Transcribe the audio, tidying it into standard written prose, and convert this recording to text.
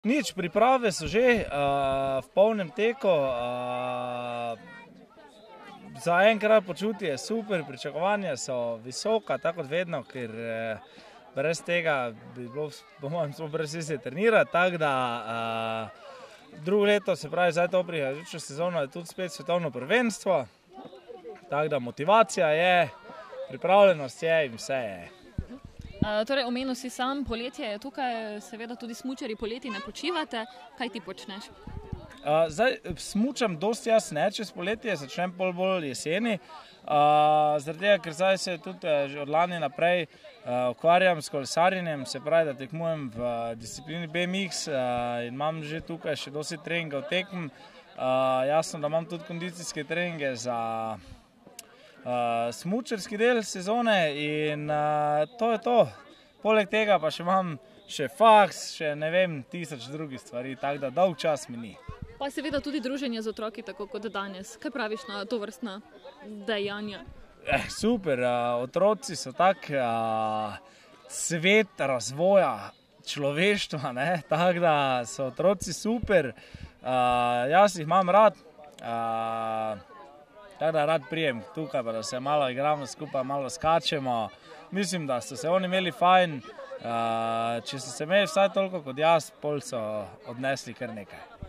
Nič, priprave so že v polnem teku. Zaenkrat počutje je super, pričakovanja so visoka, tako kot vedno, ker brez tega bi bilo, po mojem, smo brez vse trenirati, tako da drugo leto, se pravi, zdaj to prihajajočo sezono je tudi spet svetovno prvenstvo, tako da motivacija je, pripravljenost je in vse je. Torej, omenil si sam, poletje je tukaj, seveda tudi smučarji poleti ne počivate. Kaj ti počneš? Zdaj smučam dosti jaz ne čez poletje, začnem bolj jeseni, zaradi tega, ker zdaj se tudi že od lani naprej ukvarjam s kolesarjenjem, se pravi, da tekmujem v disciplini BMX in imam že tukaj še dosti treningov tekm. Jasno, da imam tudi kondicijske treninge za smučarski del sezone in to je to. Poleg tega pa še imam še faks, še ne vem, 1000 drugih stvari, tako da dolg čas mi ni. Pa seveda tudi druženje z otroki, tako kot danes. Kaj praviš na tovrstna dejanja? Super, otroci so tak svet razvoja človeštva, tako da so otroci super. Jaz jih imam rad, tako da rad prijem tukaj, pa da se malo igramo skupaj, malo skačemo. Mislim, da so se oni imeli fajn. Če so se imeli vsaj toliko kot jaz, pol so odnesli kar nekaj.